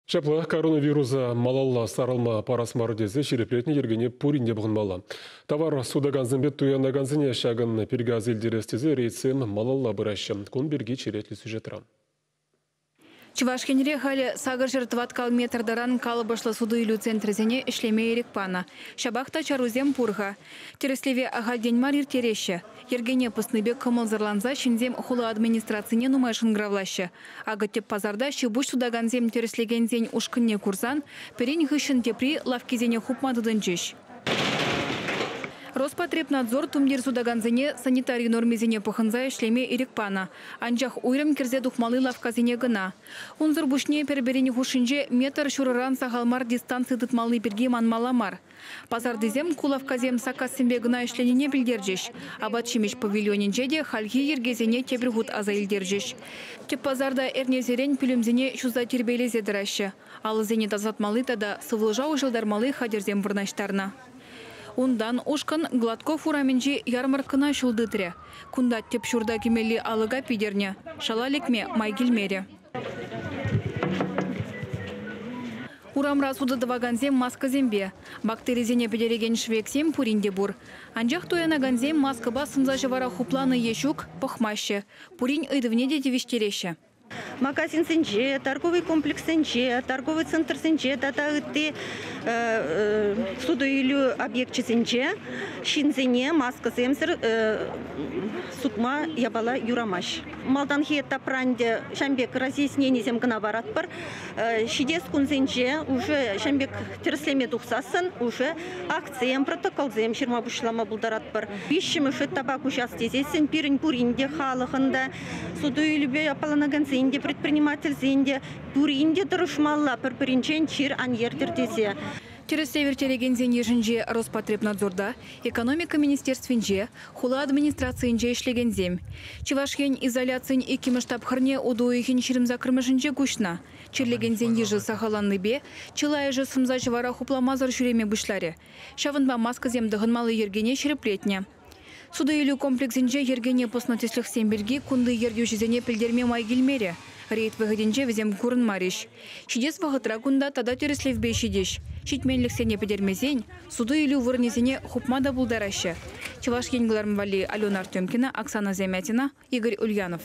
Ҫапла, коронавируса малалла сарӑлма парас мар тесе ҫирӗплетнӗ йӗркене пурин те пӑхӑнмалла. Тавар сутакансемпе туянакансене ҫакӑн пирки аса илтерес тесе рейдсем малалла пыраҫҫӗ. Кун пирки черетлӗ сюжетра. Чӑваш Енре халӗ 800 тӑваткал метр таран калӑпӑшлӑ суту-илӳ центрӗсене ӗҫлеме ирӗк панӑ. Ҫапах та чарусем пур-ха. Тӗрӗслеве ахальтен мар ирттереҫҫӗ. Йӗркене пӑснипе кӑмӑлсӑрланса ҫынсем хула администрацине нумай шӑнкӑравлаҫҫӗ. Акӑ тӗп пасарта ҫи-пуҫ сутакансем тӗрӗслекенсен ушкӑнне курсан пӗрин хыҫҫӑн тепри лавккисене хупма тытӑнчӗҫ. Роспотребнадзор тумтир сутакансене санитари нормисене пӑхӑнса ӗҫлеме ирӗк панӑ. Анчах уйрӑм кӗрсе тухмалли лавккасене кӑна. Унсӑр пуҫне пӗр-пӗрин хушшинче метр ҫурӑран сахал мар дистанци тытмалли пирки манмалла мар. Пасартисем ку лавккасем саккассемпе кӑна ӗҫленине пӗлтерчӗҫ. Апат-ҫимӗҫ павильонӗнче те хальхи йӗркесене тепӗр хут аса илтерчӗҫ. Тӗп пасарта эрнесерен пӳлӗмсене ҫуса тирпейлесе тӑраҫҫӗ. Алӑсене тасатмалли тата сывлӑша уҫӑлтармалли хатӗрсем вырнаҫтарнӑ. Унтан ушкӑн Гладков урамӗнчи ярмаркӑна ҫул тытрӗ. Кунта тӗп ҫурта кӗмелли алӑка питӗрнӗ. Шала лекме май килмерӗ. Урамра сутӑ тӑвакансем маскӑсемпе. Бактерисене пӗтерекен шӗвексем пурин те пур. Анчах туянакансем маскӑпа сӑмса-ҫӑвара хупланӑ е ҫук пӑхмаҫҫӗ. Пурин ыйтӑвне те тивӗҫтереҫҫӗ. Магазинсенче, торговый комплекссенче, торговый центрсенче тата ытти суту-илӳ объекчӗсенче ҫынсене маскӑсемсӗр сутма япала юрамасть. Малтанхи этапра ӗнтӗ ҫавӑн пек разъясненисем кӑна паратпӑр. Ҫитес кунсенче уже ҫавӑн пек тӗрӗслеме тухсассӑн уже актсем, протоколсем ҫырма пуҫлама пултаратпӑр. Виҫҫӗмӗш этапа куҫас тесессӗн пирӗн пурин те, халӑхӑн та, суту-илӳпе аппаланакансен те, предпринимательсен те пурин те тӑрӑшмалла пӗр-пӗринчен чир ан ертӗр тесе. Тӗрӗслев ирттерекенсен йышӗнче Роспотребнадзорта, экономика министерствинче, хула администрацийӗнче ӗҫлекенсем. Чӑваш Ен изоляцин иккӗмӗш тапхӑрне утӑ уйӑхӗн 28-мӗшӗнче куҫнӑ. Чирлекенсен йышӗ сахалланнипе чылайӑшӗ сӑмса-ҫӑвара хупламасӑр ҫӳреме пуҫларӗ. Ҫавӑнпа маскӑсем тӑхӑнмалли йӗркене ҫирӗплетнӗ. Суту-илӳ комплексӗнче йӗркене пӑснӑ тӗслӗхсем пирки кунти ертӳҫӗсене пӗлтерме май килмерӗ. Рейд вӑхӑтӗнче вӗсем курӑнмарӗҫ. Ҫитес вӑхӑтра кунта тата тӗрӗслевпе ҫитӗҫ. Ҫитменлӗхсене пӗтермесен суту-илӳ вырӑнӗсене хупма та пултараҫҫӗ. Чӑваш Ен кӑларӑм валли Алена Артемкина, Оксана Замятина, Игорь Ульянов.